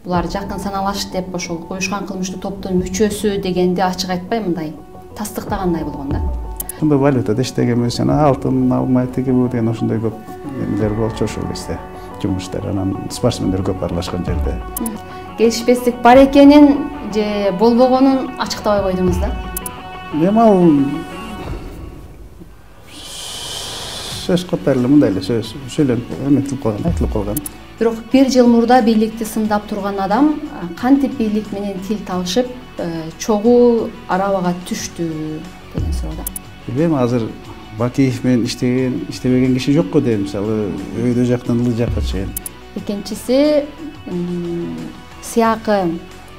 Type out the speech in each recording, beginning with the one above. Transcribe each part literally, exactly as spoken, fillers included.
булар жакын саналаш деп ошол уюшкан кылмыштуу топтун мүчөсү дегенди ачык айтпай мындай тастыктагандай болгон да. Ушундай валютада иштегенбиз, жана алтын алмай тиги бу деген ошондой көп эмелер болчу ошол кезде. Жумуштар анан спортсмендер көп аралашкан жерде. Келишпестик бар экенин же болбогонун ачыктабай койдуңуз да. Эми ал сөз катары эле мындай эле сөз сүйлөнүп эметилип калган, айтылып калган. Бирок бир жыл мурда бийликти сындап турган адам кантип бийлик менен тил табышып, чогуу арабага түштү деген суроо да. Билбейм, азыр Бакиев менен иштеген, иштебеген киши жокко дейм, мисалы өйдө жактан ылы жакка чейин. Экинчиси сыякы,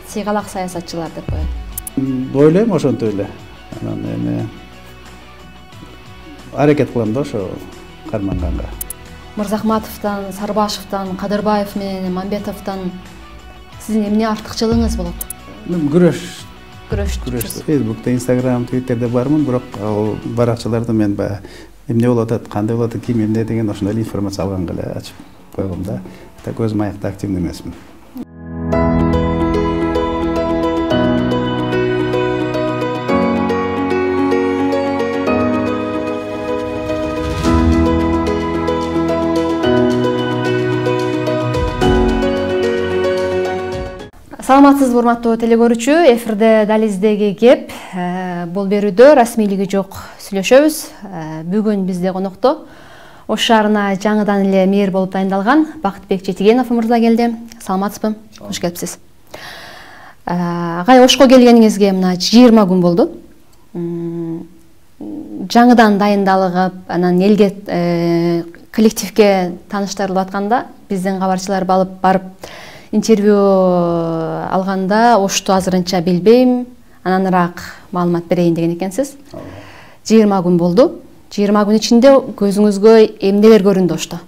сыйгалак саясатчылар деп коет. Ойлойм ошонтип эле. Анан эми аракет кылам да ошо карманганга. Мырзахматовдон, Сарбашевдон, Кадырбаев менен Мамбетовдон сиздин эмне артыкчылыгыңыз болот? Мен күрөш Күрөш. Күрөш. Facebook'та, Instagram, Twitter'де бармын, бирок ал баракчаларда мен баягы эмне болуп атат, кандай болуп атат, ким эмне деген ошондой эле информация алганга эле ачып койгом да. Так өзүм аякта активный эмесмин. Саламатсызбы урматтуу телекөрүүчү, эфирде Дализдеги кеп. Бул берүүдө расмийлиги жок сүйлөшөбүз. Бүгүн бизде конокто Ош шаарына жаңыдан эле мэр болуп дайындалган Бактыбек Жетигенов мырза келди. Саламатсызбы? Кош келипсиз. Агай, Ошко келгениңизге мына жыйырма күн болду. Жаңыдан дайындалып, анан элге коллективге тааныштырылып атканда биздин кабарчылар балып барып интервью алганда Ошту азырынча билбейм, ананыраак маалымат берейин деген экенсиз. жыйырма күн болду. жыйырма күн ичинде көзүңүзгө эмнелер көрүндү Ошто?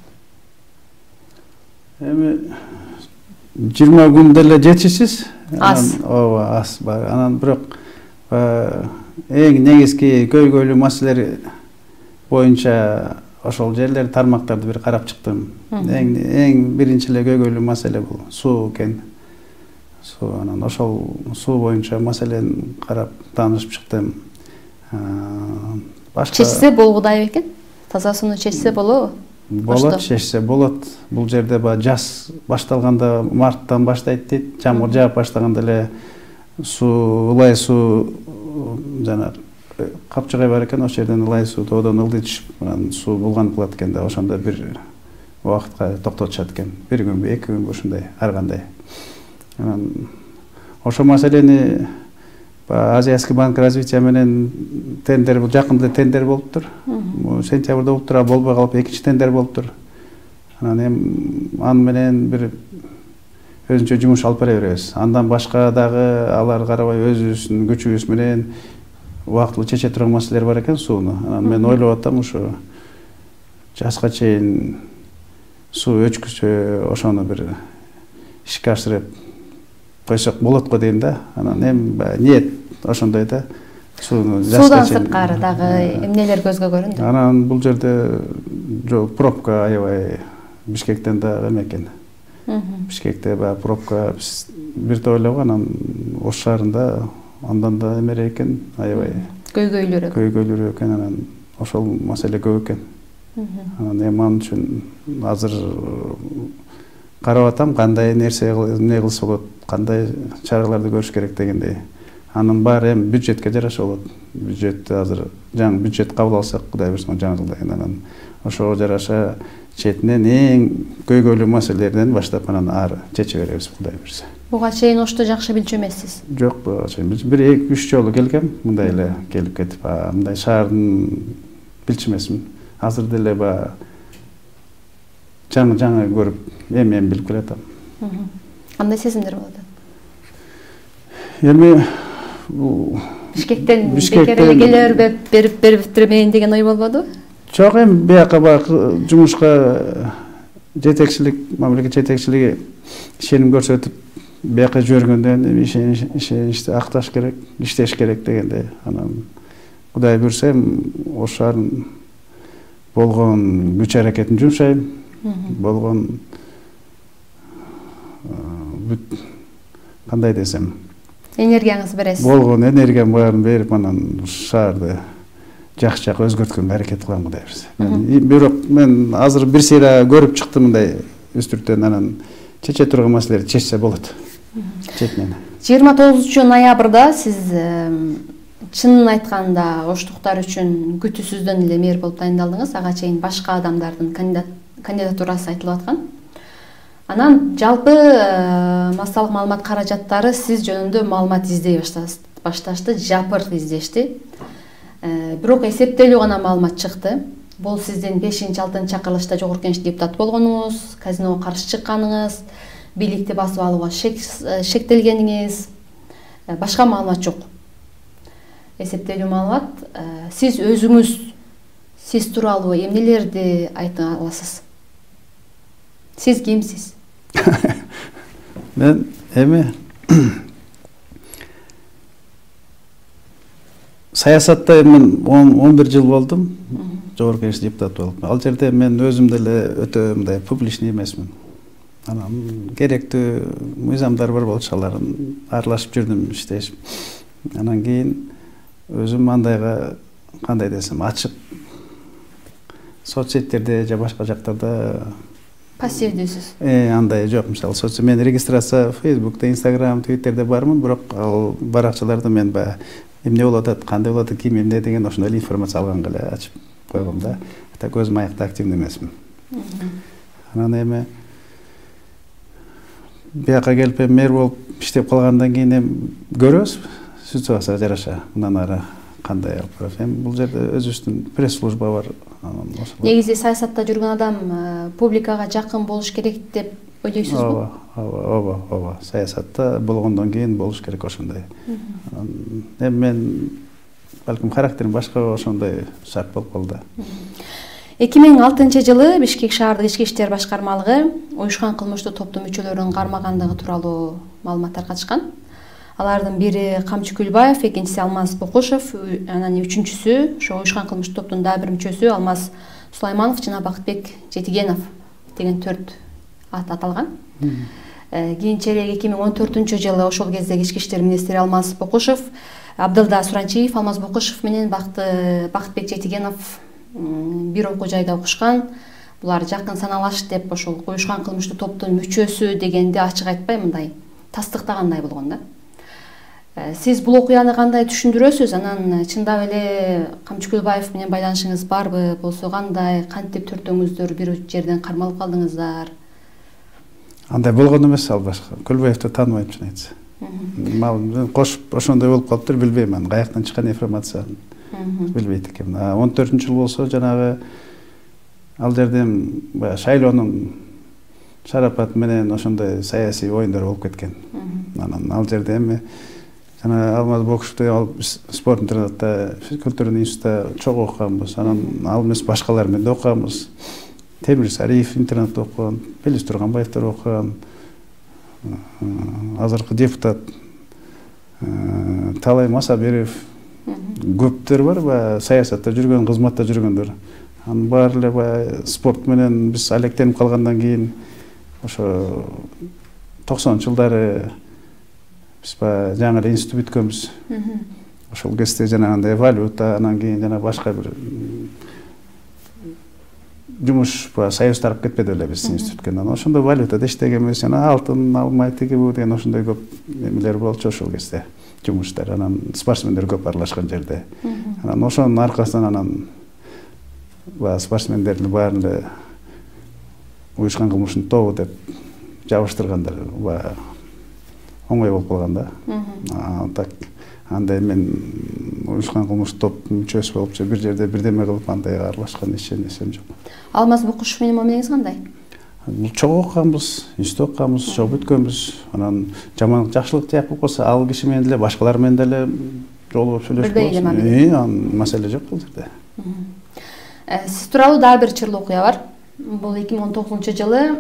Эми жыйырма күн деле жетишсиз. Аз. Ооба, аз бар. Анан бирок эң негизги көйгөйлүү маселелер боюнча ошол жерлер тармактарды бир карап чыктым. Эң эң биринчи эле көйгөйлүү маселе бул суу экен. Суу, анан ошол суу боюнча маселени карап таанышып чыктым. Башка чечсе болгудай экен? Таза сууну чечсе болобу? Болот, чечсе болот. Бул жерде ба жаз башталганда марттан баштайт дейт. Жамгыр жаап баштаганда эле суу, ылай суу жана капчыгай бар экен, ошол жерден ылай суу тоодон ылдый түшүп, анан суу булганып калат экен да, ошондо бир убакытка токтотушат экен. Бир күнбү, эки күнбү ушундай, ар кандай. Анан ошол маселени Азияский банк развития менен тендер, бул жакында тендер болуптур. Сентябрда болуптур, а болбой калып экинчи тендер болуптур. Анан эми аны менен бир өзүнчө жумуш алып бара беребиз. Андан башка дагы алар карабай өзүбүздүн күчүбүз менен убактылуу чече турган маселелер бар экен сууну. Анан мен ойлоп атам, ушу жазга чейин суу өчкүсө ошону бир ишке ашырып койсок болот го дейм да. Анан эми ниет ошондой да. Сууну жазга чейин. Суудан сырткары дагы эмнелер көзгө көрүндү? Анан бул жерде жок, пробка аябай Бишкектен да эме экен. Бишкекте баягы пробка бир тойлогон, анан Ош шаарында андан да эмерээк экен, аябай көйгөйлүүрөөк. Көйгөйлүүрөөк экен, анан ошол маселе көп экен. Анан эми ал үчүн азыр карап атам, кандай нерсе эмне кылса болот, кандай чараларды көрүш керек дегендей. Анын баары эми бюджетке жараша болот. Бюджетти азыр жаңы бюджет кабыл алсак, Кудай буйрса жаңы жылда, анан ошого жараша четинен эң көйгөйлүү маселелерден баштап анан ары чече беребиз, Кудай буйрса. Буга чейин Ошто жакшы билчү эмессиз? Жок, буга чейин бир эки үч жолу келгем, мындай эле келип кетип, мындай шаардын билчү эмесмин. Азыр деле ба жаңы-жаңы көрүп, эми-эми билип келатам. Кандай сезимдер болот? Эми Бишкектен бекер эле келе берип бериптирмейин деген ой болбоду? Жок, эми бияка баягы жумушка жетекчилик, мамлекет жетекчилиги ишеним көрсөтүп, бияка жибергөндөн эми ишеничти акташ керек, иштеш керек дегенде, анан Кудай буйрса Ош шаарын болгон күч аракетин жумшайм, болгон бүт кандай десем, энергияңызды бересиз. Болгон энергиям баарын берип, анан шаарды жакшы жакка өзгөрткөнгө аракет кылам Кудай берсе. Бирок мен азыр бир сыйра көрүп чыктым мындай үстүртөн, анан чече турган маселелерди чечсе болот. Четинен. жыйырма тогузунчу ноябрда сиз чынын айтканда оштуктар үчүн күтүүсүздөн эле мэр болуп дайындалдыңыз. Ага чейин башка адамдардын кандидатурасы айтылып аткан. Анан жалпы массалык маалымат каражаттары сиз жөнүндө маалымат издей башташты, жапыр издешти. Бирок эсептелүү гана маалымат чыкты. Бул сиздин бешинчи алтынчы чакырылышта жогорку кеңеш депутаты болгонуңуз, казиного каршы чыкканыңыз, бийликти басып алууга шектелгениңиз, башка маалымат жок. Эсептелүү маалымат. Сиз өзүңүз сиз тууралуу эмнелерди айта аласыз? Сиз кимсиз? Мен эми саясатта мен он бир жыл болдум, жогорку кеңеш депутаты болуп. Ал жерде мен өзүм деле өтө мындай публичный эмесмин. Анан керектүү мыйзамдар бар болчу, алардын аралашып жүрдүм, иштешип. Анан кийин өзүм андайга кандай десем, ачык соцсеттерде же башка жактарда пассивдүүсүз. Э, андай жок. Мисалы, соц мен регистрация Facebook'та, Instagram, Twitter'де бармын, бирок ал баракчаларды мен баягы эмне болуп атат, кандай болуп атат, ким эмне деген ошондой информация алганга эле ачып койгом да. Так өзүм аякта активный эмесмин. Анан эми бияка келип мэр болуп иштеп калгандан кийин эми көрөбүз ситуацияга жараша. Мындан ары кандай алып барат. Эми бул жерде өзүбүздүн пресс-служба бар. Негизи саясатта жүргөн адам публикага жакын болуш керек деп ойлойсузбу? Ооба, ооба, ооба, ооба. Саясатта болгондон кийин болуш керек ошондой. Эми мен балким характерим башка ошондой шарт болуп калды. эки миң алтынчы жылы Бишкек шаардык ички иштер башкармалыгы уюшкан кылмыштуу топтун мүчөлөрүн кармагандыгы тууралуу маалыматтар катышкан. Алардын бири Камчы Күлбаев, экинчиси Алмаз Бокушев, анан үчүнчүсү ошо уюшкан кылмыштуу топтун дагы бир мүчөсү Алмаз Сулайманов жана Бакытбек Жетигенов деген төрт ат аталган. Кийинчерээк эки миң он төртүнчү жылы ошол кездеги ички иштер министри Алмаз Бокушев, Абдылда Суранчиев, Алмаз Бокушев менен Бакытбек Жетигенов бир окуу жайда окушкан. Булар жакын саналаш деп ошол уюшкан кылмыштуу топтун мүчөсү дегенди ачык айтпай мындай тастыктагандай болгон да. Сиз бул окуяны кандай түшүндүрөсүз? Анан чындап эле Камчы Күлбаев менен байланышыңыз барбы? Болсо кандай, кантип төртөөңүздөр бир жерден кармалып калдыңыздар? Андай болгон эмес, ал башка. Күлбаевди тааныбайм, чын айтса. Мал кошуп ошондой болуп калыптыр, билбейм аны. Каяктан чыккан информацияны билбейт экенмин. он төртүнчү жыл болсо жанагы ал жерде баягы шайлоонун шарапаты менен ошондой саясий оюндар болуп кеткен. Анан ал жерде эми жана Алмаз Бокушевди ал спорт интернатта, культурный институтта чогуу окуганбыз. Анан ал эмес башкалар менен да окуганбыз. Темир Сариев интернатта окуган, Белис Турганбаевдер окуган, азыркы депутат Талай Масабиров, көптөр бар, баягы саясатта жүргөн, кызматта жүргөндөр. Анын баары эле баягы спорт менен биз алектенип калгандан кийин ошо токсонунчу жылдары биз баягы жаңы эле институт бүткөнбүз. Ошол кезде жанагындай валюта, анан кийин жана башка бир жумуш баягы союз тарап кетпеди эле биз институтка. Анан ошондой валютада иштегенбиз, жана алтын алмай тиги бу деген ошондой көп эмелер болчу ошол кезде. Жумуштар, анан спортсмендер көп аралашкан жерде. Анан ошонун аркасынан анан баягы спортсмендердин баарын эле уюшкан кылмыштын тобу деп жабыштыргандар, баягы оңой болуп калган да. Так андай мен уюшкан кылмыштуу топтун мүчөсү болуп же бир жерде бирдеме кылып андай аралашкан эсем жок. Алмаз Бокушев менен мамилеңиз кандай? Чогуу окуганбыз, институт окуганбыз, чогуу бүткөнбүз. Анан жамандык жакшылык жак болуп калса, ал киши менен деле башкалар менен деле жолугуп сүйлөшүп болобуз. Э, ан маселе жок бул жерде. Сиз тууралуу дагы бир чырлуу окуя бар. Бул эки миң он тогузунчу жылы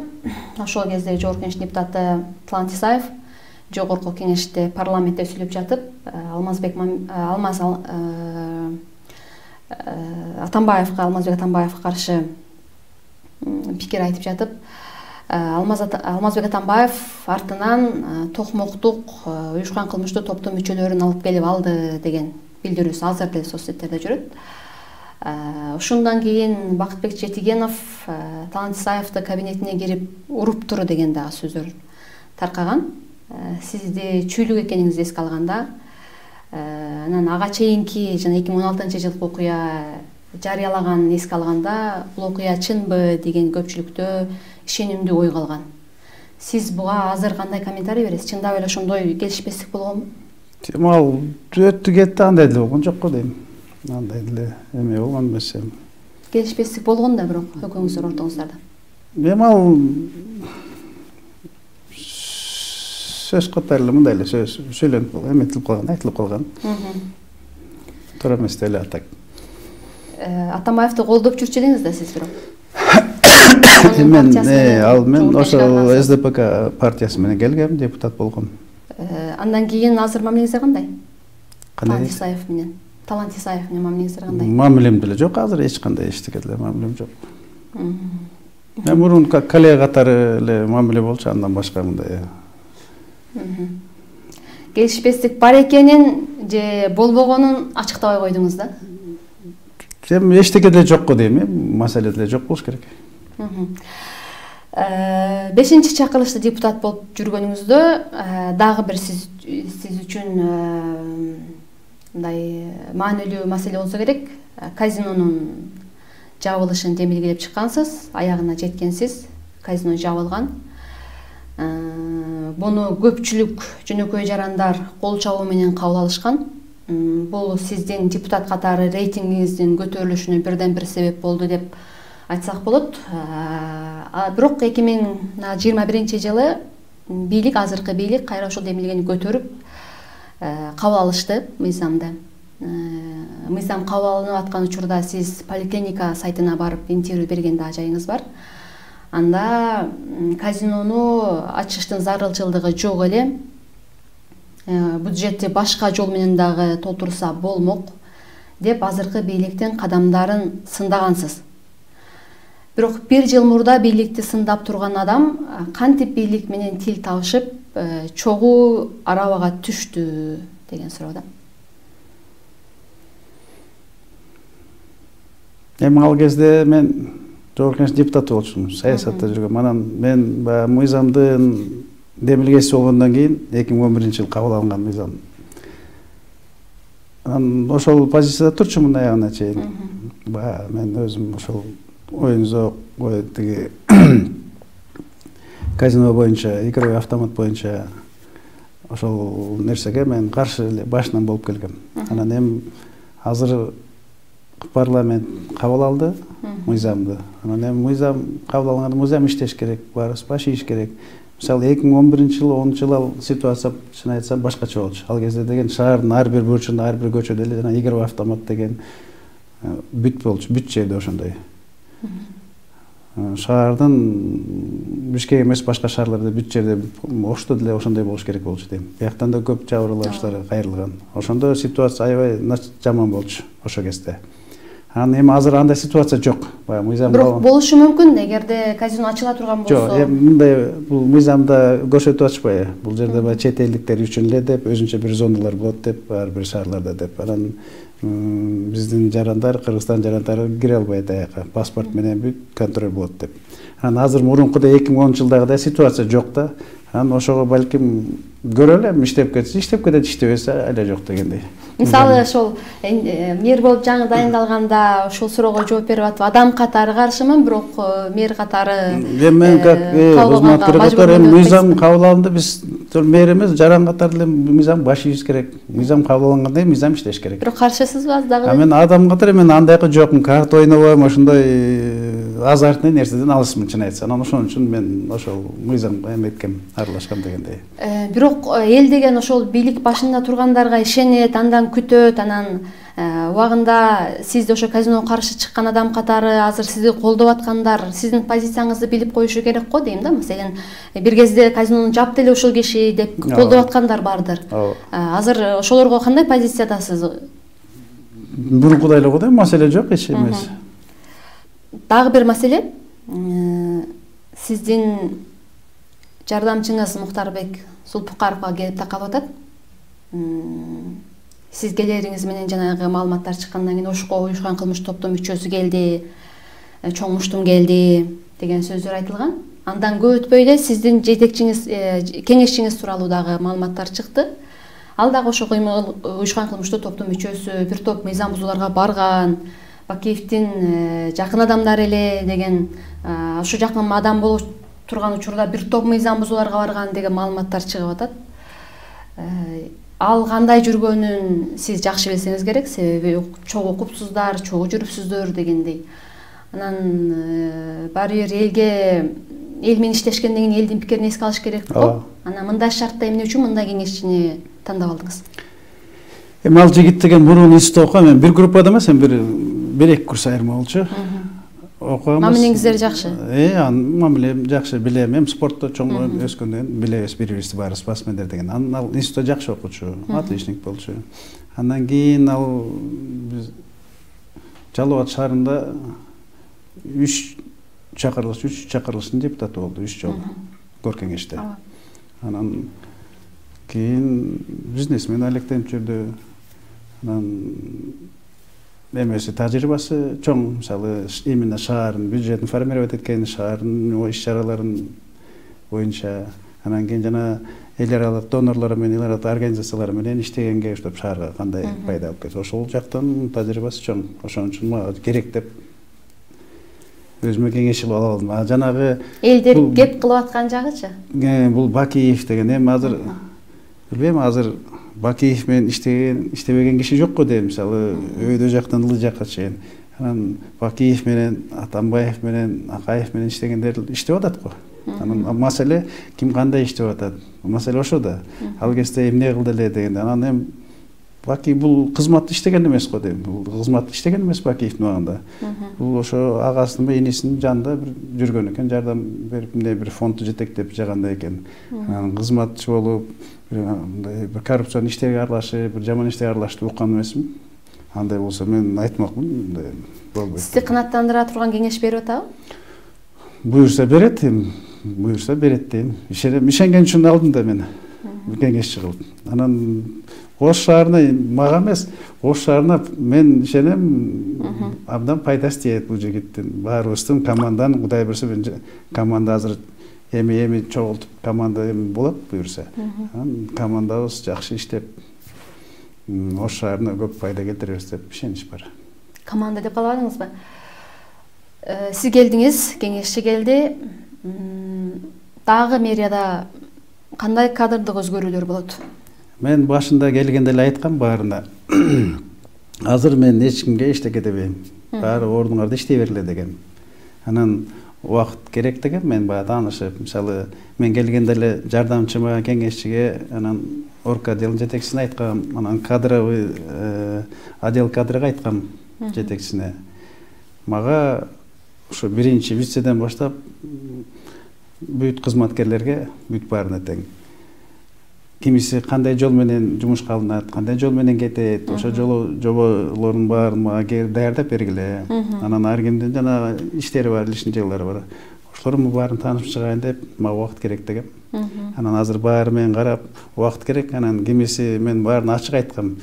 ошол кезде жогорку кеңеш депутаты Тлант Исаев жогорку кеңеште парламентте сүйлөп жатып, Алмазбек Алмаз Атамбаевга, Алмазбек Атамбаевга каршы пикир айтып жатып, Алмазбек Атамбаев артынан токмоктук уюшкан кылмыштуу топтун мүчөлөрүн алып келип алды деген билдирүүсү азыр деле соц сеттерде жүрөт. Ошондон кийин Бакытбек Жетигенов Талант Исаевди кабинетине кирип уруптур деген дагы сөздөр таркаган. Сизди чүйлүк экениңизди эске алганда, анан ага чейинки жана эки миң он алтынчы жылкы окуя жарыялаганын эске алганда, бул окуя чынбы деген көпчүлүктө ишенимдүү ой калган. Сиз буга азыр кандай комментарий бересиз? Чындап эле ошондой келишпестик болгонбу? Ал өттү кетти, андай деле болгон жок го дейм. Андай деле эме болгон эмес. Келишпестик болгон да бирок экөөңүздөр ортоңуздарда. Эми ал сөз катары эле мындай эле сөз сүйлөнүп калган, эметилип калган, айтылып калган. Туура эмес деле атак. Атамбаевди колдоп жүрчү деңиз да сиз бирок. Мен ал мен ошо эс дэ пэ ка партиясы менен келгем, депутат болгом. Андан кийин азыр мамилеңиздер кандай? Кандай? Талант Исаев менен. Талант Исаев менен мамилеңиздер кандай? Мамилем деле жок, азыр эч кандай эчтеке деле мамилем жок. Мен мурун коллега катары эле мамиле болчу, андан башка мындай. Келишпестик бар экенин же болбогонун ачыктабай койдуңуз да? Эми эчтеке деле жок го дейм, маселе деле жок болуш керек. Бешинчи чакырылышта депутат болуп жүргөнүңүздө дагы бир сиз сиз үчүн мындай маанилүү маселе болсо керек. Казинонун жабылышын демилгелеп чыккансыз, аягына жеткенсиз, казино жабылган. Буну көпчүлүк жөнөкөй жарандар кол чабуу менен кабыл алышкан. Бул сиздин депутат катары рейтингиңиздин көтөрүлүшүнө бирден бир себеп болду деп айтсак болот. Бирок эки миң жыйырма биринчи жылы бийлик, азыркы бийлик кайра ошол демилгени көтөрүп кабыл алышты мыйзамды. Мыйзам кабыл алынып аткан учурда сиз поликлиника сайтына барып интервью берген да жайыңыз бар. Анда казинону ачыштын зарылчылыгы жок эле. Бюджетти башка жол менен дагы толтурса болмок деп азыркы бийликтин кадамдарын сындагансыз. Бирок бир жыл мурда бийликти сындап турган адам кантип бийлик менен тил табышып, чогуу арабага түштү деген суроо да. Эми ал кезде мен жогорку кеңеш депутаты болчумун, саясатта жүргөм. Анан мен баягы мыйзамдын демилгеси болгондон кийин эки миң он биринчи жылы кабыл алынган мыйзам. Анан ошол позицияда турчумун аягына чейин. Баягы мен өзүм ошол оюнзок, ой тиги казино боюнча, игровой автомат боюнча ошол нерсеге мен каршы эле башынан болуп келгем. Анан эми азыр парламент кабыл алды мыйзамды. Анан эми мыйзам кабыл алганда мыйзам иштеш керек, баарыбыз баш ийиш керек. Мисалы эки миң он биринчи жылы, онунчу жылы ал ситуация чын айтсам башкача болчу. Ал кезде деген шаардын ар бир бурчунда, ар бир көчөдө эле жана игровой автомат деген бүт болчу, бүт жерде ошондой. Шаардын Бишкек эмес башка шаарларда бүт жерде ошто деле ошондой болуш керек болчу дейм. Бияктан да көп жабырланыштар кайрылган. Ошондо ситуация аябай жаман болчу ошол кезде. Анан эми азыр андай ситуация жок. Баягы мыйзам бирок болушу мүмкүн эгерде казино ачыла турган болсо. Жок, эми мындай бул мыйзамда көрсөтүп атышпайбы? Бул жерде баягы чет элдиктер үчүн эле деп, өзүнчө бир зоналар болот деп, ар бир шаарларда деп. Анан биздин жарандар, Кыргызстан жарандары кире албайт аяка. Паспорт менен бүт контроль болот деп. Анан азыр мурункудай эки миң онунчу жылдагыдай ситуация жок да. Анан ошого балким көрөлү, иштеп кетсе, иштеп кетет, иштебесе эле жок дегендей. Мисалы ошол мэр болуп жаңы дайындалганда ошол суроого жооп берип атып, адам катары каршымын, бирок мэр катары мен как кызматкер катары мыйзам кабыл алынды, биз мэр эмес, жаран катары эле мыйзам баш ийиш керек. Мыйзам кабыл алынганда мыйзам иштеш керек. Бирок каршысызбы аз дагы? Мен адам катары мен андайкы жокмун, карта ойнобойм, ошондой азартный нерседен алысмын чын айтсам. Анан ошон үчүн мен ошол мыйзамга эметкем, аралашкам дегендей. Бирок эл деген ошол бийлик башында тургандарга ишенет, андан күтөт, анан убагында сизди ошо казиного каршы чыккан адам катары азыр сизди колдоп аткандар сиздин позицияңызды билип коюшу керек го дейм да. Маселен, бир кезде казинону жапты эле ушул киши деп колдоп аткандар бардыр. Азыр ошолорго кандай позициядасыз? Мурункудай эле го дейм, маселе жок, эч эмес. Дагы бир маселе. сиздин жардамчыңыз Мухтарбек Сулпукаровго келип такалып атат. Сиз келериңиз менен жанагы маалыматтар чыккандан кийин ошко уюшкан кылмыш топтун мүчөсү келди, чоң муштум келди деген сөздөр айтылган. Андан көп өтпөй эле сиздин жетекчиңиз, кеңешчиңиз тууралуу дагы маалыматтар чыкты. Ал дагы ошо уюшкан кылмыштуу топтун мүчөсү, бир топ мыйзам бузууларга барган, Бакиевдин жакын адамдары эле деген, ошо жакын адам болуп турган учурда бир топ мыйзам бузууларга барган деген маалыматтар чыгып атат. Ал кандай жүргөнүн сиз жакшы билсеңиз керек, себеби чогуу окупсуздар, чогуу жүрүпсүздөр дегендей. Анан баары бир элге эл менен иштешкенден кийин элдин пикирин эске алыш керек го. Анан мындай шартта эмне үчүн мындай кеңешчини тандап алдыңыз? Эми ал жигит деген мурун институтта окуган, мен бир группада эмес, эми бир бир эки курс айырма болчу. Окуганбыз. Мамилеңиздер жакшы? Э, анын мамилем жакшы, билем. Эми спортто чоң өскөндөн билебиз, бири-бирибизди баары спортсмендер деген. Анан ал институтта жакшы окучу, отличник болчу. Андан кийин ал биз Жалал Абад шаарында үч чакырылыш, үч чакырылыштын депутаты болду, үч жолу кор кеңеште. Анан кийин бизнесмен алектенип жүрдү. Анан эмеси тажрыйбасы чоң, мисалы именно шаардын бюджетин формировать эткени, шаардын иш-чараларын боюнча, анан кийин жана эл аралык донорлор менен, эл аралык организациялар менен иштегенге уштап шаарга кандай пайда алып келет. Ошол жактан тажрыйбасы чоң. Ошон үчүн мага керек деп өзүмө кеңеш алып алдым. А жанагы элдер кеп кылып аткан жагычы? Бул Бакиев деген, эми азыр билбейм, азыр Бакиев менен иштеген, иштебеген киши жокко дейм, мисалы өйдө жактан ылы жакка чейин. Анан Бакиев менен, Атамбаев менен, Акаев менен иштегендер иштеп атат го. Анан маселе ким кандай иштеп атат? Маселе ошо да. Ал кезде эмне кылды эле деген. Анан эми Бакиев бул кызматты иштеген эмес го дейм. Бул кызматты иштеген эмес Бакиевдин убагында. Бул ошо агасынын, энисинин жанында бир жүргөн экен, жардам берип, эмне бир фондду жетектеп жагандай экен. Анан кызматчы болуп, бир коррупцион иштерге аралашып, бир жаман иштерге аралашты уккан эмесмин. Андай болсо мен айтмакмын, болбойт. Сизди канааттандыра турган кеңеш берип атабы? Буюрса берет, буюрса берет дейм. Ишенген үчүн алдым да мен кеңешчи кылып. Анан Ош шаарына мага эмес, Ош шаарына мен ишенем, абдан пайдасы тиет бул жигиттин. Баарыбыздын команданын, Кудай берсе, команда азыр эми-эми чогултуп, команда эми болот буюрса. Анан командабыз жакшы иштеп, Ош шаарына көп пайда келтиребиз деп ишенич бар. Команда деп калбадыңызбы? Сиз келдиңиз, кеңешчи келди. Дагы мэрияда кандай кадрдык өзгөрүүлөр болот? Мен башында келгенде эле айткам баарына. Азыр мен эч кимге эчтеке дебейм. Баары ордуңарда иштей бергиле деген. Анан убакыт керек деген, мен баягы таанышып, мисалы мен келгенде эле жардамчыма, кеңешчиге, анан орг отделдин жетекчисине айткам, анан кадровый отдел кадрга айткам жетекчисине. Мага ошо биринчи вицеден баштап бүт кызматкерлерге бүт баарына тең. Кимиси кандай жол менен жумушка алынат, кандай жол менен кетет, ошо жолу жоболордун баарын мага даярдап бергиле. Анан ар кимдин жана иштери бар, личностьтери бар. Ошолордун баарын таанышып чыгайын деп, мага убакыт керек дегем. Анан азыр баары менен карап, убакыт керек. Анан кимиси мен баарын ачык айткам.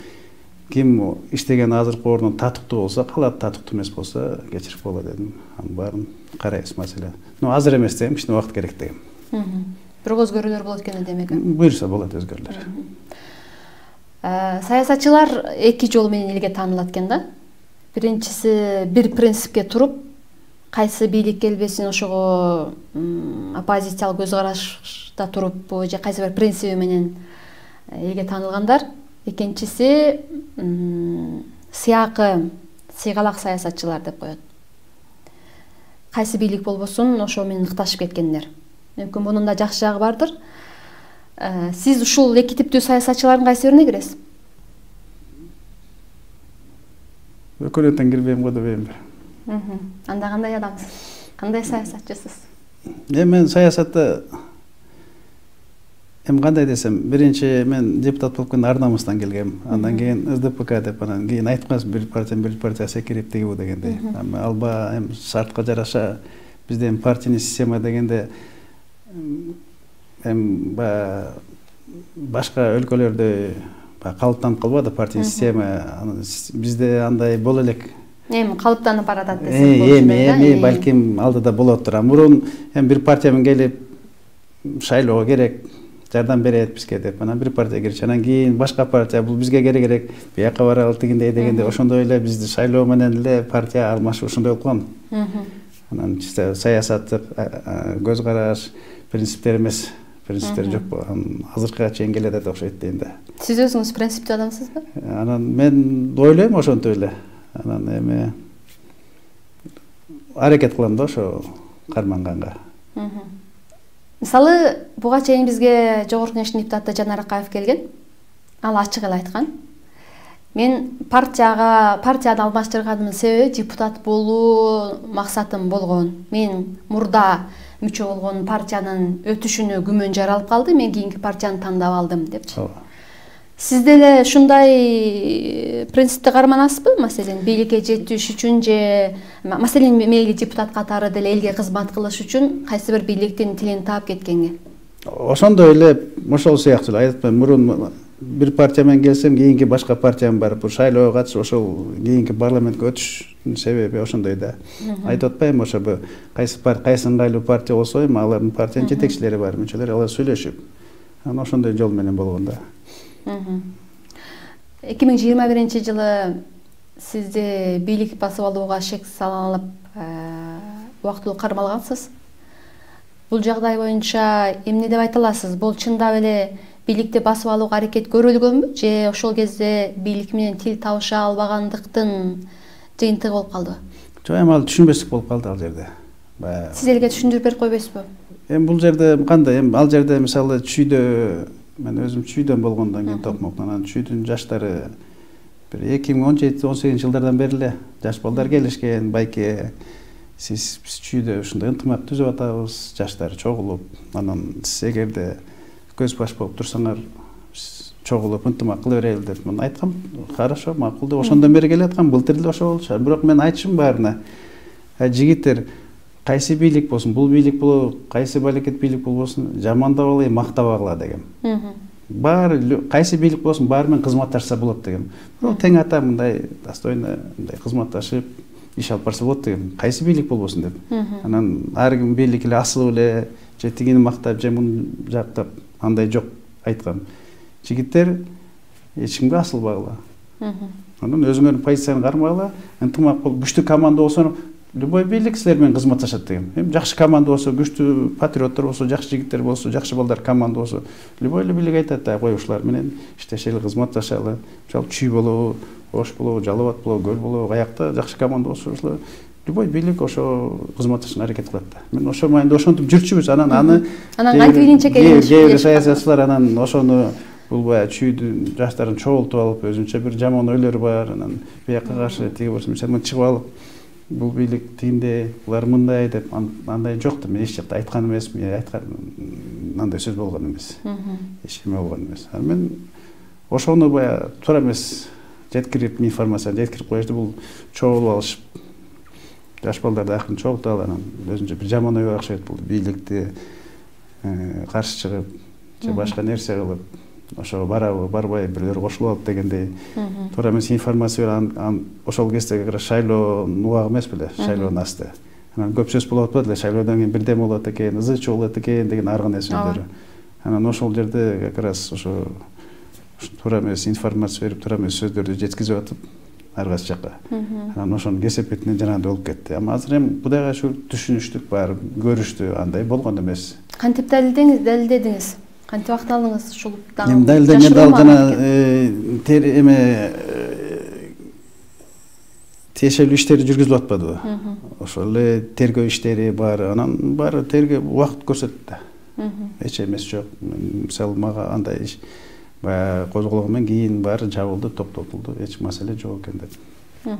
Ким иштеген азыркы ордун татыктуу болсо калат, татыктуу эмес болсо кечирип болот дедим. Анын баарын карайбыз маселе. Ну азыр эмес дегем, кичине убакыт керек дегем. Бирок өзгөрүүлөр болот экен демек. Буюрса болот өзгөрүүлөр. Саясатчылар эки жол менен элге таанылат экен да. Биринчиси бир принципке туруп, кайсы бийлик келбесин ошого оппозициялык көз карашта туруп, же кайсы бир принциби менен элге таанылгандар. Экинчиси сыякы, сыйгалак саясатчылар деп коет. Кайсы бийлик болбосун ошо менен ыкташып кеткендер. Мүмкүн мунун да жакшы жагы бардыр. Сиз ушул эки типтүү саясатчылардын кайсы бирине киресиз? Өкөлөтөн кирбейм го дебейм. Анда кандай адамсыз? Кандай саясатчысыз? Эми мен саясатта эми кандай десем, биринчи мен депутат болуп калганда ар намыстан келгем. Андан кийин эс дэ пэ ка деп, анан кийин айтканбыз бир партия бир партия секирип тиги бу дегендей. Алба эми шартка жараша бизде эми партийный система дегенде эми баягы башка өлкөлөрдө калыптанып калбады партийный система. Бизде андай боло элек. Эми калыптанып баратат десек болот. Эми эми балким алдыда болоттур. Мурун эми бир партия менен келип шайлоого керек, жардам берет бизге деп, анан бир партия кирчи, анан кийин башка партия бул бизге керек керек, бияка баралы тигиндей дегенде, ошондой эле бизди шайлоо менен эле партия алмашып ошондой болуп калган. Анан чисто саясаттык көз караш, принциптер эмес, принциптер жок болгон. Азыркыга чейин келе атат окшойт дейм да. Сиз өзүңүз принциптүү адамсызбы? Анан мен ойлойм ошентип эле. Анан эми аракет кылам да ошо карманганга. Мисалы, буга чейин бизге Жогорку Кеңештин депутаты Жанар Акаев келген. Ал ачык эле айткан. Мен партияга, партияны алмаштырганымдын себеби депутат болуу максатым болгон. Мен мурда мүчө болгон партиянын өтүшүнө күмөн жаралып калды, мен кийинки партияны тандап алдым депчи. Сиз деле ушундай принципти карманасызбы? Маселен, бийликке жетиш үчүн же, маселен, мейли депутат катары деле элге кызмат кылыш үчүн кайсы бир бийликтин тилин таап кеткенге? Ошондой эле, ошол сыяктуу эле айтпайм. Мурун бир партия менен келсем, кийинки башка партияга барып, шайлоого катышып, ошол кийинки парламентке өтүш себеби ошондой да. Айтып атпайм, ошо кайсы кайсы ыңгайлуу партия болсо, эми алардын партиянын жетекчилери бар, мүчөлөр, алар сүйлөшүп, анан ошондой жол менен болгон да. эки миң жыйырма биринчи жылы сизди бийлик басып алууга шек салынып, убактылуу кармалгансыз. Бул жагдай боюнча эмне деп айта аласыз? Бул чындап эле бийликти басып алууга аракет көрүлгөнбү, же ошол кезде бийлик менен тил табыша албагандыктын жыйынтыгы болуп калдыбы? Жок, эми ал түшүнбөстүк болуп калды ал жерде. Сиз элге түшүндүрүп берип койбойсузбу? Эми бул жерде кандай? Эми ал жерде мисалы чүйдө, мен өзүм чүйдөн болгондон кийин Токмоктон, анан чүйдүн жаштары бир эки миң он жети он сегизинчи жылдардан бери эле жаш балдар келишкен, байке сиз биз чүйдө ушундай ынтымак түзүп атабыз, жаштар чогулуп, анан сиз эгерде көз баш болуп турсаңар, чогулуп ынтымак кыла берели деп мен айткам. Хорошо, макул деп ошондон бери келаткам. Былтыр эле ошо болчу. Бирок мен айтышым баарына, жигиттер, кайсы бийлик болсун, бул бийлик болобу, кайсы балекет бийлик болбосун, жамандабагыла, мактабагыла дегем. Баары кайсы бийлик болсун, баары менен кызматташса болот дегем. Бирок тең ата мындай достойно мындай кызматташып иш алып барса болот дегем. Кайсы бийлик болбосун деп. Анан ар ким бийлик эле асылып эле же тигини мактап, же муну жактап андай жок айткам. Жигиттер эч кимге асылбагыла. Анан өзүңөрдүн позицияны кармагыла, ынтымак болуп, күчтүү команда болсо, любой бийлик силер менен кызматташат дегем. Эми жакшы команда болсо, күчтүү патриоттор болсо, жакшы жигиттер болсо, жакшы балдар команда болсо, любой эле бийлик айтат да, кой ушулар менен иштешели, кызматташалы. Мисалы Чүй болобу, Ош болобу, Жалал Абад болобу, Көл болобу, каякта жакшы команда болсо, ушулар любой бийлик ошо кызматташууга аракет кылат да. Мен ошо майында ошентип жүрчүбүз. Анан аны анан кантип илинче келишип, саясатчылар анан ошону бул баягы чүйдүн жаштарын чогултуп алып, өзүнчө бир жаман ойлору бар, анан бияка каршы тиги болсо, мисалы чыгып алып, бул бийлик тигиндей, булар мындай деп, андай жок да. Мен эч жакта айткан эмесмин, айткан андай сөз болгон эмес. Эч ким болгон эмес. Анан мен ошону баягы туура эмес жеткирип, информацияны жеткирип коюшту, бул чогулуп алышып, жаш балдарды акырын чогултуп алып, анан өзүнчө бир жаман ойго окшойт, бул бийликти каршы чыгып, же башка нерсе кылып, ошого барабы, барбайбы, бирлөр кошулуп алып дегендей туура эмес информация берип, ошол кезде как раз шайлоонун убагы эмес беле, шайлоонун асты. Анан көп сөз болуп атпады эле, шайлоодон кийин бирдеме болот экен, ызы чуу болот экен деген ар кандай сөздөрү. Анан ошол жерде как раз ошо туура эмес информация берип, туура эмес сөздөрдү жеткизип атып, ар кайсы жакка. Анан ошонун кесепетинен жанагындай болуп кетти. Ама азыр эми Кудайга шүгүр түшүнүштүк бар, көрүштү, андай болгон эмес. Кантип далилдеңиз, далилдедиңиз? Кантип акталдыңыз ушул дагы? Эми далилденген дал жана тер эме тиешелүү иштери жүргүзүлүп атпадыбы? Ошол эле тергөө иштери бар, анан баары тергөө убакыт көрсөттү да. Эч эмес жок. Мисалы мага андай иш баягы козголгондон кийин баары жабылды, токтотулду, эч маселе жок экен деп.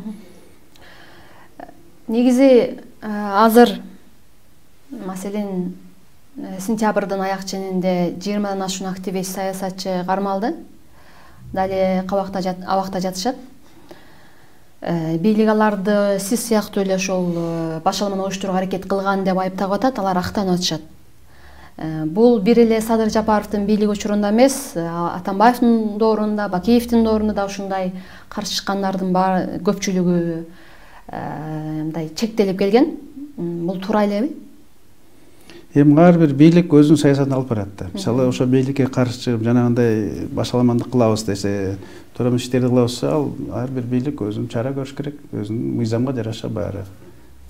Негизи азыр маселен сентябрдын аяк ченинде жыйырмадан ашуун активист, саясатчы кармалды. Дали кабакта абакта жатышат. бийлик аларды сиз сыяктуу эле ошол башаламаны уюштурууга аракет кылган деп айыптап атат, алар актанып атышат. Бул бир эле Садыр Жапаровдун бийлиги учурунда эмес, Атамбаевдин доорунда, Бакиевдин доорунда да ушундай каршы чыккандардын баары көпчүлүгү мындай чектелип келген. Бул туура элеби? Эми ар бир бийлик өзүнүн саясатын алып барат да. Мисалы, ошо бийликке каршы чыгып жанагындай башаламандык кылабыз десе, төрөм иштерди кылабыз, ал ар бир бийлик өзүнүн чара көрүш керек, өзүнүн мыйзамга жараша баары.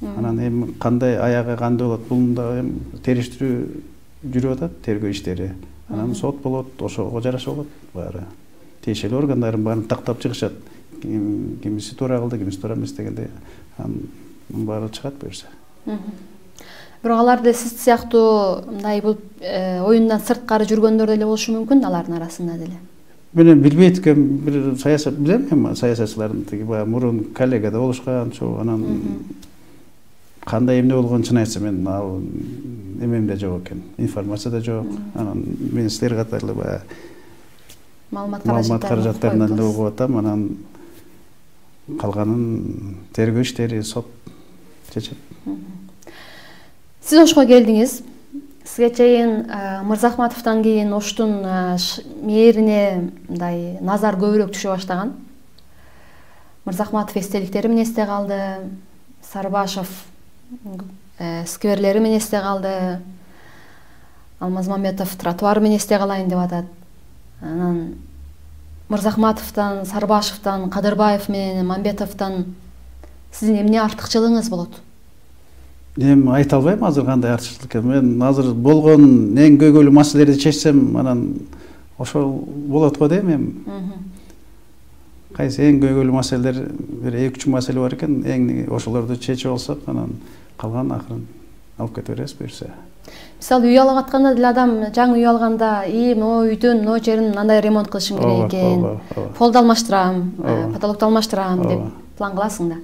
Анан эми кандай аягы кандай болот, бул да эми териштирүү жүрүп атат, тергөө иштери. Анан сот болот, ошого жараша болот баары. Тиешелүү органдардын баарын тактап чыгышат. Кимиси туура кылды, кимиси туура эмес дегенде, анын баары чыгат буюрса. Бирок аларды сиз сыяктуу мындай бул оюндан сырткары жүргөндөр деле болушу мүмкүн алардын арасында деле. Мен билбейт экем, бир саясат билем эми саясатчылардын тиги баягы мурун коллегада болушкан, чо анан кандай эмне болгонун чын айтсам мен ал эмемде жок экен, информацияда жок. Анан мен силер катарлы баягы маалымат каражаттарынан эле угуп атам, анан калганын тергөө иштери, сот чечет. Сиз Ошко келдиңиз. Сизге чейин Мырзахматовдон кийин Оштун мээрине мындай назар көбүрөөк түшө баштаган. Мырзахматов эстеликтери менен эсте калды, Сарбашев скверлери менен эсте калды, Алмазмамбетов тротуары менен эсте калайын деп атат. Анан Мырзахматовдон, Сарбашевдон, Кадырбаев менен Мамбетовдон сиздин эмне артыкчылыгыңыз болот? Эми айта албайм азыр кандай артыкчылык экен. Мен азыр болгон эң көйгөйлүү маселелерди чечсем, анан ошол болот го дейм эми. Кайсы эң көйгөйлүү маселелер, бир эки үч маселе бар экен, эң ошолорду чечип алсак, анан калган акырын алып кете беребиз буюрса. Мисалы, үй алып атканда деле адам жаңы үй алганда, "И, могу үйдүн могу жерин мындай ремонт кылышым керек экен, полду алмаштырам, потолокту алмаштырам" деп план кыласың да.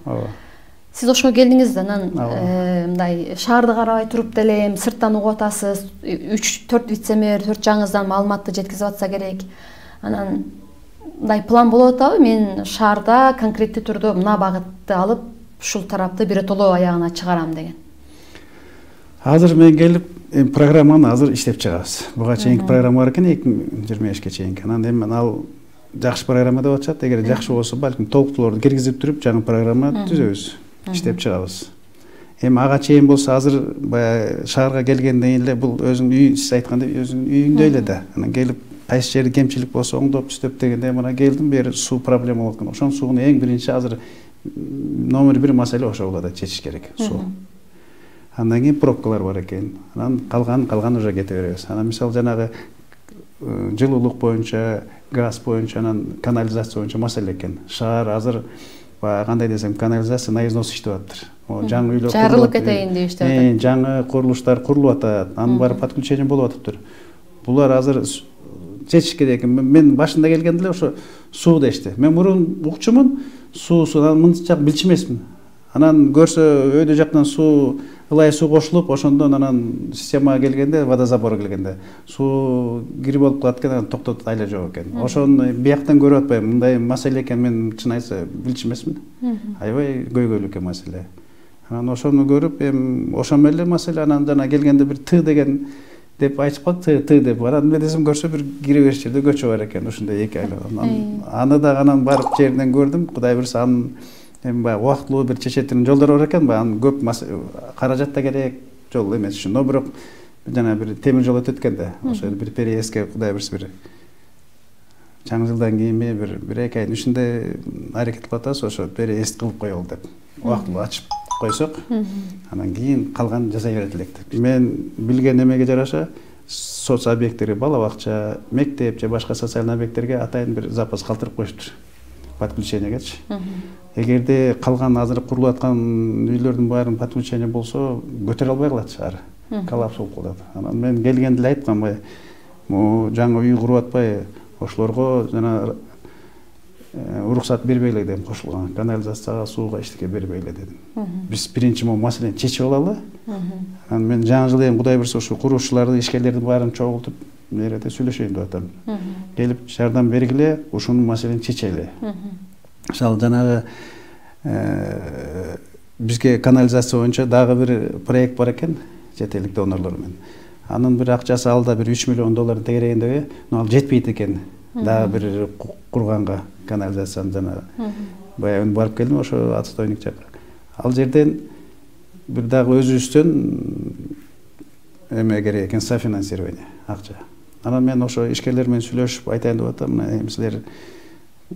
Сиз Ошко келдиңиз да, анан мындай шаарды карабай туруп деле эми сырттан угуп атасыз, үч төрт вице-мэр, төрт жаңыздан маалыматты жеткизип атса керек. Анан мындай план болуп атабы? Мен шаарда конкреттүү түрдө мына багытты алып, ушул тарапты биротоло аягына чыгарам деген. Азыр мен келип, эми программаны азыр иштеп чыгабыз. Буга чейинки программа бар экен, эки миң жыйырма бешке чейинки. Анан эми ал жакшы программа деп атышат. Эгер жакшы болсо, балким толуктууларды киргизип туруп, жаңы программа түзөбүз, иштеп чыгабыз. Эми ага чейин болсо, азыр баягы шаарга келгенден кийин эле бул өзүнүн үй, сиз айткандай өзүнүн үйүндө эле да. Анан келип кайсы жерде кемчилик болсо оңдоп түзөп дегенде, мына келдим, бери суу проблема болот экен. Ошонун суунун эң биринчи азыр номер бир маселе ошол болот, чечиш керек суу. Андан кийин пробкалар бар экен. Анан калган калган уже кете беребиз. Анан мисалы жанагы жылуулук боюнча, газ боюнча, анан канализация боюнча маселе экен. Шаар азыр кандай десем, канализация на износ иштеп атыптыр. Жаңы үйлөр жарылып кетейин деп иштеп атат. Жаңы курулуштар курулуп атат, анын баары подключение болуп атыптыр. Булар азыр чечиш керек. Мен башында келгенде эле ошо суу дешти. Мен мурун укчумун, суусунан мынча билчү эмесмин. Анан көрсө өйдө жактан суу, ылай суу кошулуп, ошондон анан системага келгенде, водозабор келгенде суу кирип болуп калат экен, анан токтотот айла жок экен. Ошону бияктан көрүп атпайм, мындай маселе экен, мен чын айтса билчү эмесмин. Аябай көйгөйлүү экен маселе. Анан ошону көрүп, эми ошо менен маселе, анан жана келгенде бир Т деген деп айтып калды, Т деп. Анан мен десем көрсө бир кире бериш жерде көчө бар экен, ушундай эки айла. Аны да анан барып жерден көрдүм, Кудай буйрса анын эми баягы убактылуу бир чечетин жолдор бар экен, анан көп каражат да керек, жол эмес үчүн. Но бирок жана бир темир жол өтөт экен да. Ошо бир переездке Кудай буйрса бир жаңы жылдан кийинби бир бир эки айдын ичинде аракет кылып атабыз, ошо переезд кылып коелу деп. Убактылуу ачып койсок, анан кийин калган жасай берет элек деп. Мен билген эмеге жараша соц объекттери, бала бакча, мектеп же башка социалдык объекттерге атайын бир запас калтырып коюштур. Подключениегечи. Эгерде калган азыр курулуп аткан үйлөрдүн баарын подключение болсо, көтөрө албай калат шаар. Коллапс болуп калат. Анан мен келгенде эле айткам, бай, могу жаңы үй куруп атпай, ошолорго жана уруксат бербейле дедим, кошулган канализацияга, сууга эчтеке бербейле дедим. Биз биринчи могу маселени чечип алалы. Анан мен жаңы жылы эми Кудай буйрса ушу куруушчуларды, ишкерлердин баарын чогултуп, мерде сүйлөшөйүн деп атам. Келип жардам бергиле, ушунун маселени чечели. Мисалы жанагы бизге канализация боюнча дагы бир проект бар экен чет элдик донорлор менен. Анын бир акчасы алда бир үч миллион доллар тегерегендеги, но ал жетпейт экен. Дагы бир курганга канализацияны жана баягы барып келдим ошо отстойник жака. Ал жерден бир дагы өзүбүздөн эме керек экен, софинансирование акча. Анан мен ошо ишкерлер менен сүйлөшүп айтайын деп атам, мына силер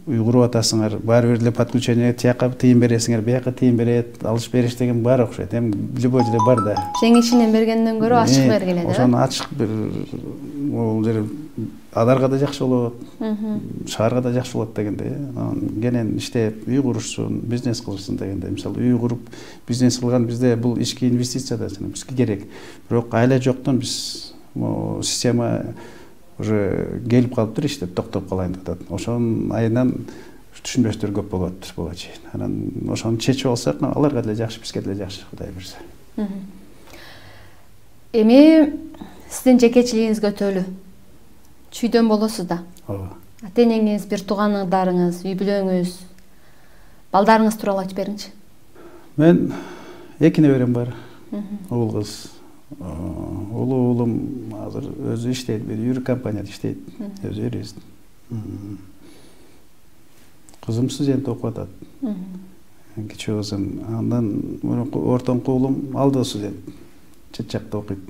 үй куруп атасыңар, баары бир эле подключение, тияка тыйын бересиңер, бияка тыйын берет, алыш бериш деген бар окшойт. Эми любой жерде бар да. Жеңишинен бергенден көрө ачык бергиле да. Ошону ачык бир ол жер адарга да жакшы болот, шаарга да жакшы болот дегенде, кенен иштеп үй курушсун, бизнес кылышсын дегенде. Мисалы үй куруп бизнес кылган бизде бул ички инвестиция да бизге керек. Бирок айла жоктон биз система уже келип калыптыр, иштеп токтоп калайын деп атат. Ошонун айынан түшүнбөстөр көп болот буга чейин. Анан ошону чечип алсак, аларга деле жакшы, бизге деле жакшы, Кудай буйрса. Эми сиздин жекечилигиңизге өтөлү. Чүйдөн болосуз да. Ооба. Ата-энеңиз, бир тууганыңдарыңыз, үй бүлөңүз, балдарыңыз тууралуу айтып бериңичи. Мен эки неберем бар. Уул кыз. Улуу уулум азыр өзү иштейт, бир юрик компанияда иштейт, өзү юрист. Кызым студент окуп атат. Кичүү кызым. Андан ортоңку уулум ал да студент. Чет жакта окуйт.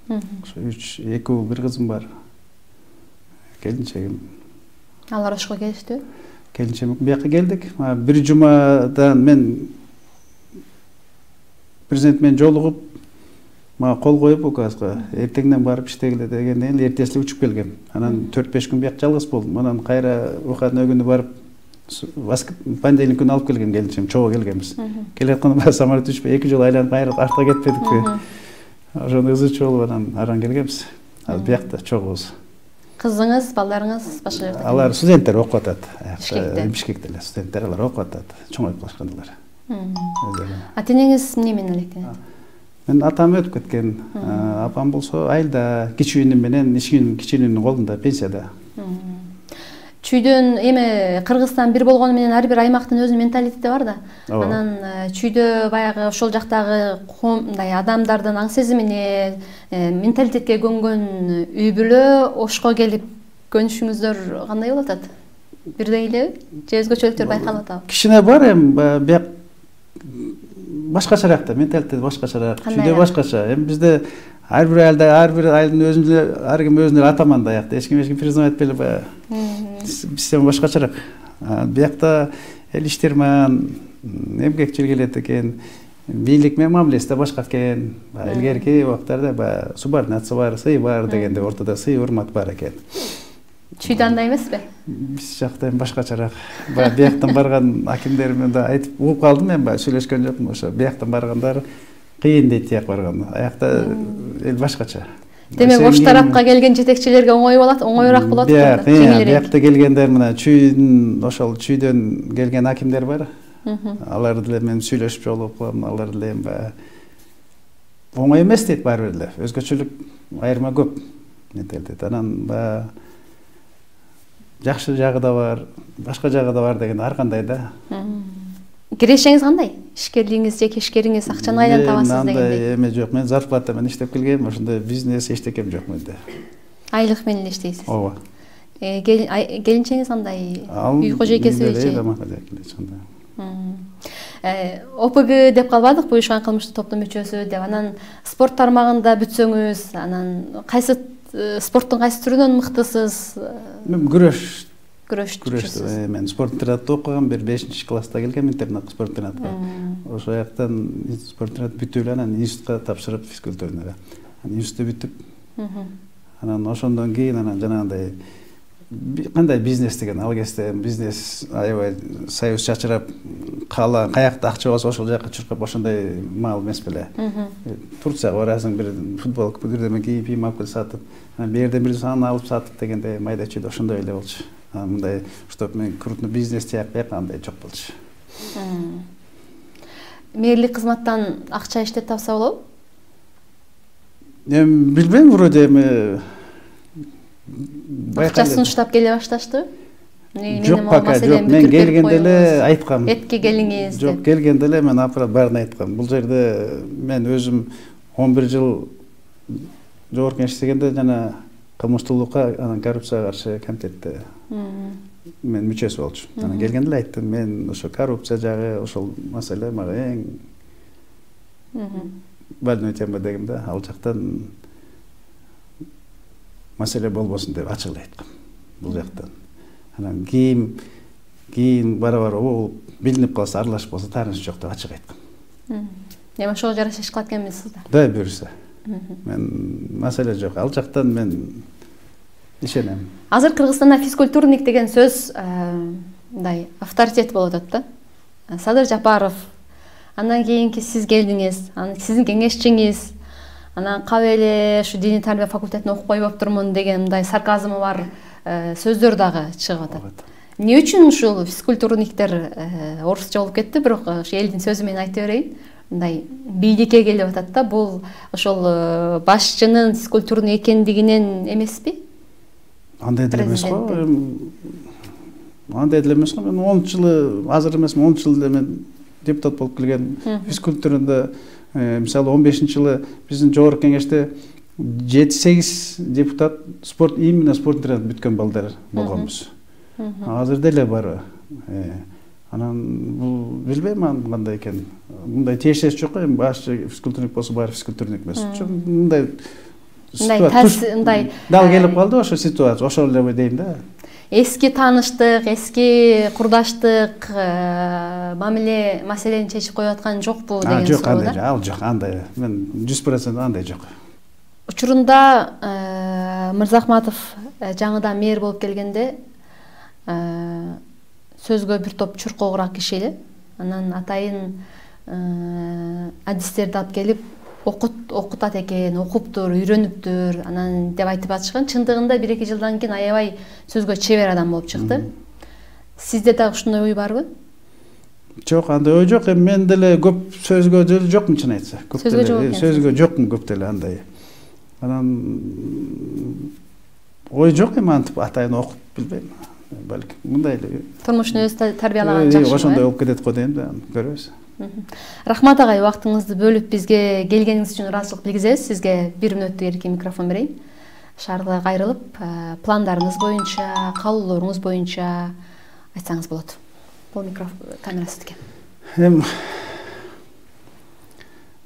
Ошо үч, эки уул, бир кызым бар. Келинчегим. Алар ошко келиштиби? Келинчегим бияка келдик. Бир жумадан мен президент менен жолугуп, мага кол коюп указга эртеңден барып иштегиле дегенден кийин эртеси учуп келгем. Анан төрт беш күн бияка жалгыз болдум. Анан кайра выходной күнү барып понедельник күнү алып келгем келинчем, чогуу келгенбиз. Келе атканда самолет учпай эки жолу айланып кайра артка кетпедикпи? Ошондой ызычы болуп анан аран келгенбиз. Азыр биякта чогуубуз. Кызыңыз, балдарыңыз башка жерде? Алар студенттер окуп атат. Бишкекте. Бишкекте эле студенттер, алар окуп атат. Чоңоюп калышкандылар. Ата-энеңиз эмне менен электенет? Мен атам өтүп кеткен. Апам болсо айылда, кичүү иним менен, ишкинин кичүү инимдин колунда, пенсияда. Чүйдөн эми Кыргызстан бир болгону менен ар бир аймактын өзүнүн менталитети бар да. Анан чүйдө баягы ошол жактагы мындай адамдардын аң сезимине, менталитетке көнгөн үй бүлө ошко келип көнүшүңүздөр кандай болуп атат? Бирдей элеби? Же өзгөчөлүктөр байкалып атабы? Кичине бар эми бияк башкачараак да, менталитет башкачараак, чүйдө башкача. Эми бизде ар бир айылда, ар бир айылдын өзүнүн ар ким өзүнүн атаман да, аякта эч ким эч ким признавать этпейли баягы. Система башкачараак. Биякта эл иштирман, эмгекчил келет экен, бийлик менен мамилеси да башка экен. Илгерки убактарда баягы субординация бар, сый бар дегенде ортодо сый, урмат бар экен. Чүйдө андай эмеспи? Биз жакта эми башкачараак. Баягы бияктан барган акимдер менен да айтып угуп калдым, мен баягы сүйлөшкөн жокмун. Ошо бияктан баргандар кыйын дейт, тияк барган. Аякта эл башкача. Демек ош тарапка келген жетекчилерге оңой болот, оңоюраак болот да. Биякта келгендер мына чүйдүн, ошол чүйдөн келген акимдер бар. Алар деле мен сүйлөшүп жолугуп калам, алар деле эми баягы оңой эмес дейт баары бир эле. Өзгөчөлүк айырма көп менталитет. Анан баягы жакшы жагы да бар, башка жагы да бар деген ар кандай да. Кирешеңиз кандай? Ишкерлигиңиз же ишкериңиз акчаны кайдан табасыз дегендей? Андай эме жок, мен зарплата менен иштеп келгем, ошондой бизнес эчтекем жок менде. Айлык менен эле иштейсиз? Ооба. Келинчеңиз кандай? Үй кожойкеси же? О П Г деп калбадык, буюшкан кылмыштуу топтун мүчөсү деп. Анан спорт тармагында бүтсөңүз, анан кайсы спорттун кайсы түрүнөн мыктысыз? Мен күрөш. Күрөш. Мен спорт интернатта окугам, бир бешинчи класста келгем интернатка, спорт интернатка. Ошол жактан спорт интернат бүтүп эле анан институтка тапшырып физкультурага. Анан институтты бүтүп, анан ошондон кийин анан жанагындай кандай бизнес деген ал кезде бизнес аябай союз чачырап кала каякта акча болсо ошол жака чуркап ошондой маал эмес беле. Турцияга барасың, бир футболка бирдеме кийип, кийим алып келип сатып, анан бир жерден бир саны алып сатып дегенде майда чүйдө ошондой эле болчу. Мындай чтоб мен крупный бизнес тияк бияк андай жок болчу. Мэрлик кызматтан акча иштеп тапса болобу? Эми билбейм, вроде эми акчасын уштап келе башташтыбы? Жок пока жок. Мен келгенде эле айткам. Этке келиңиз деп. Жок, келгенде эле мен апара баарын айткам. Бул жерде мен өзүм он бир жыл жогорку иштегенде жана кылмыштуулукка, анан коррупцияга каршы комитетте мен мүчөсү болчумун. Анан келгенде эле айттым, мен ошо коррупция жагы, ошол маселе мага эң больной тема дегем да. Ал жактан маселе болбосун деп ачык эле айткам. Бул жактан. Анан кийин кийин бара-бара болуп билинип калса, аралашып калса таарынч жок деп ачык айткам. Эми ошого жараша иш кылат экенбизсиз да? Дай буюрса. Мен маселе жок. Ал жактан мен ишенем. Азыр Кыргызстанда физкультурник деген сөз мындай авторитет болуп атат да. Садыр Жапаров, андан кийинки сиз келдиңиз, анан сиздин кеңешчиңиз, анан кабыл эле ушу диний тарбия факультетине окуп койбоптурмун деген мындай сарказмы бар сөздөр дагы чыгып атат. Эмне үчүн ушул физкультурниктер орусча болуп кетти, бирок ошо элдин сөзү менен айта берейин. Мындай бийликке келип атат да, бул ошол башчынын физкультурник экендигинен эмеспи? Андай деле эмес го. Андай деле эмес го. Мен онунчу жылы, азыр эмес, онунчу жылда мен депутат болуп келген. Физкультурада мисалы он бешинчи жылы биздин жогорку кеңеште жети сегиз депутат спорт именно спорт интернат бүткөн балдар болгонбуз. Азыр деле бар. Анан бул билбейм анын кандай экен. Мындай тиешеси жок го, эми башчы физкультурник болсо баары физкультурник эмес. Мындай мындай дал келип калды ошо ситуация, ошол эле дейм да. Эски тааныштык, эски курдаштык мамиле маселени чечип коюп аткан жокпу деген суроо. Жок, андай ал жок, андай. Мен жүз процент андай жок. Учурунда Мырзахматов жаңыдан мэр болуп келгенде сөзгө бир топ чуркоогураак киши эле. Анан атайын адистерди алып келип окут окутат экен, окуптур, үйрөнүптүр, анан деп айтып атышкан. Чындыгында бир эки жылдан кийин аябай сөзгө чебер адам болуп чыкты. Сизде дагы ушундай ой барбы? Жок, андай ой жок. Эми мен деле көп сөзгө деле жокмун, чын айтса. Көп деле сөзгө жокмун, көп деле андай. Анан ой жок, эми антип атайын окуп билбейм. Балким мындай эле. Турмушун өзү тарбиялаган жакшы. Ошондой болуп кетет го дейм да, көрөбүз. Рахмат агай, убактыңызды бөлүп бизге келгениңиз үчүн ыраазычылык билгизебиз. Сизге бир мүнөттүк эркин микрофон берейин. Шаарга кайрылып, пландарыңыз боюнча, каалоолоруңуз боюнча айтсаңыз болот. Бул микрофон камера сиздике. Эми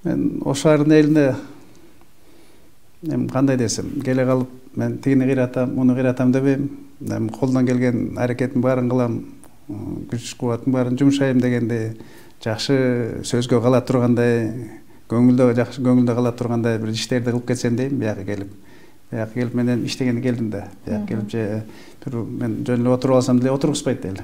мен ош шаарынын элине эми кандай десем, келе калып мен тигини кыйратам, муну кыйратам дебейм. Эми колдон келген аракеттин баарын кылам, күч кубатым баарын жумшайм дегенде, жакшы сөзгө кала тургандай, көңүлдө жакшы көңүлдө кала тургандай бир иштерди кылып кетсем дейм, бияка келип. Бияка келип менен иштегенде келдим да. Бияка келип же бир мен жөн эле отуруп алсам деле отургузбайт деле.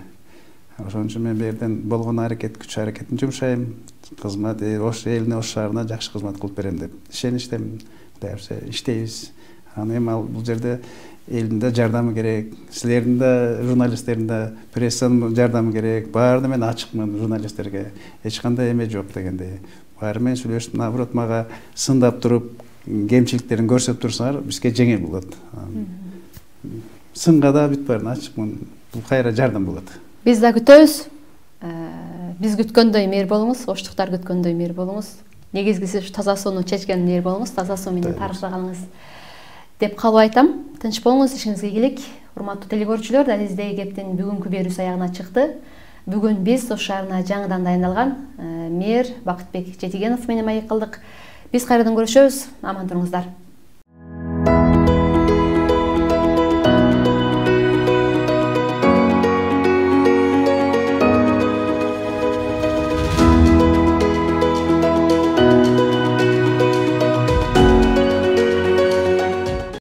Ошон үчүн мен берден болгон аракет, күч аракетин жумшайм, кызмат ош элине, ош шаарына жакшы кызмат кылып берем деп ишеничтемин. Кудай буюрса иштейбиз. Анан эми ал бул жерде элдин да жардамы керек, силердин да, журналисттердин да, прессанын жардамы керек. Баарына мен ачыкмын журналисттерге. Эч кандай эме жок дегендей. Баары менен сүйлөшүп, наоборот мага сындап туруп, кемчиликтерин көрсөтүп турсаңар, бизге жеңил болот. Сынга да бүт баарын ачыкмын. Бул кайра жардам болот. Биз да күтөбүз. Биз күткөндөй мэр болуңуз, оштуктар күткөндөй мэр болуңуз. Негизгиси ушу таза сууну чечкен мэр болуңуз, таза суу менен тарыштырганыңыз деп калып айтам. Тынч болуңуз, ишиңизге ийгилик. Урматтуу телекөрүүчүлөр, Дализдеги кептин бүгүнкү берүүсү аягына чыкты. Бүгүн биз Ош шаарына жаңыдан дайындалган мэр Бакытбек Жетигенов менен маек кылдык. Биз кайрадан көрүшөбүз. Аман туруңуздар.